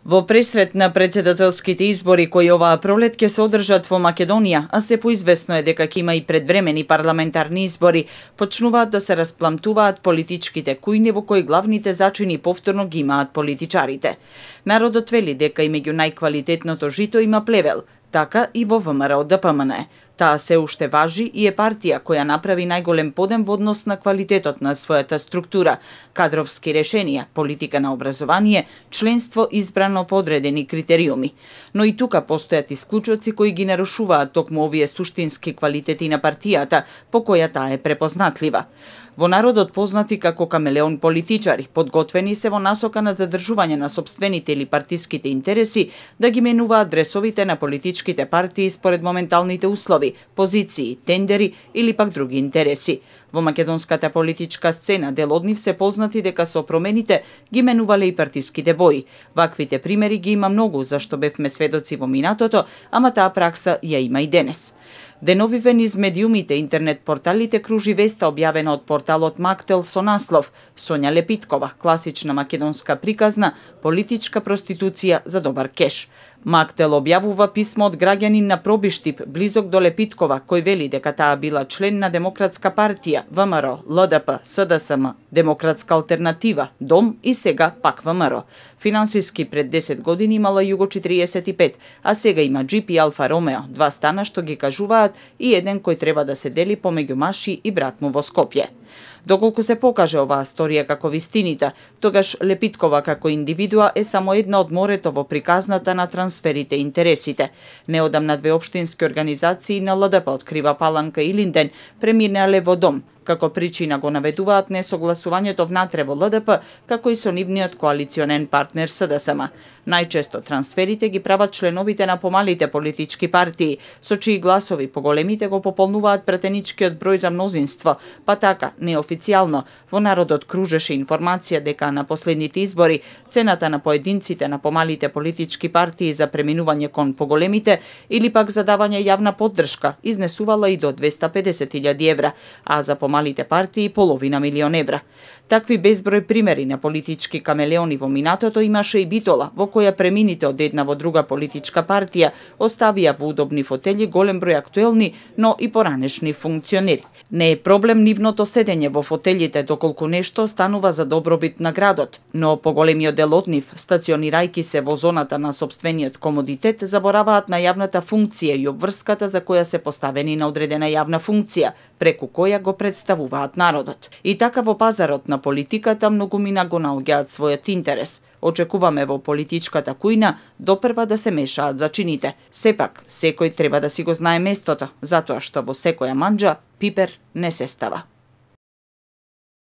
Во пресрет на претседателските избори кои оваа пролет ќе се одржат во Македонија, а се поизвестно е дека ќе има и предвремени парламентарни избори, почнуваат да се распламтуваат политичките кујни во кои главните зачини повторно ги имаат политичарите. Народот вели дека и меѓу најквалитетното жито има плевел, така и во ВМРО-ДПМН. Таа се уште важи и е партија која направи најголем подем во однос на квалитетот на својата структура, кадровски решенија, политика на образование, членство избрано по одредени критериуми. Но и тука постојат исклучоци кои ги нарушуваат токму овие суштински квалитети на партијата, по која таа е препознатлива. Во народот познати како камелеон политичари, подготвени се во насока на задржување на сопствените или партиските интереси, да ги менуваат дресовите на политичките партии според моменталните услови, позиции, тендери или пак други интереси. Во македонската политичка сцена дел од нив се познати дека со промените ги менувале и партиските бои. Ваквите примери ги има многу, зашто бевме сведоци во минатото, ама таа пракса ја има и денес. Деновиве низ медиумите интернет порталите кружи веста објавена од порталот Мактел со наслов Сонја Лепиткова, класична македонска приказна, политичка проституција за добар кеш. Мактел објавува писмо од граѓанин на Пробиштип, близок до Лепиткова, кој вели дека таа била член на Демократска партија, ВМРО, ЛДП, СДСМ, Демократска алтернатива, Дом и сега пак ВМРО. Финансиски пред 10 години имала Југо 45, а сега има джип и Алфа Ромео, два стана што ги кажуваат и еден кој треба да се дели помеѓу Маши и брат му во Скопје. Доколку се покаже оваа сторија како вистинита, тогаш Лепиткова како индивидуа е само една од морето во приказната на трансферите и интересите. Неодамна две општински организации на ЛДП открива Паланка и Линден преминале во Дом. Како причина го наведуваат несогласувањето внатре во ЛДП, како и со нивниот коалиционен партнер СДСМ. Најчесто трансферите ги прават членовите на помалите политички партии, со чии гласови поголемите го пополнуваат претеничкиот број за мнозинство, па така, неофицијално, во народот кружеше информација дека на последните избори цената на поединците на помалите политички партии за преминување кон поголемите или пак за давање јавна поддршка изнесувала и до 250.000 евра, а за помалите партии половина милион евра. Такви безброј примери на политички камелеони во минатото имаше и Битола, во која премините од една во друга политичка партија оставија во удобни фотели голем број актуелни, но и поранешни функционери. Не е проблем нивното седење во фотелите доколку нешто станува за добробит на градот, но поголемиот дел од нив, стационирајќи се во зоната на сопствениот комодитет, забораваат на јавната функција и обврската за која се поставени на одредена јавна функција, преку која го представуваат народот. И така во пазарот на политиката многумина го наоѓаат својот интерес. Очекуваме во политичката кујна допрва да се мешаат зачините. Сепак, секој треба да си го знае местото, затоа што во секоја манџа пипер не се става.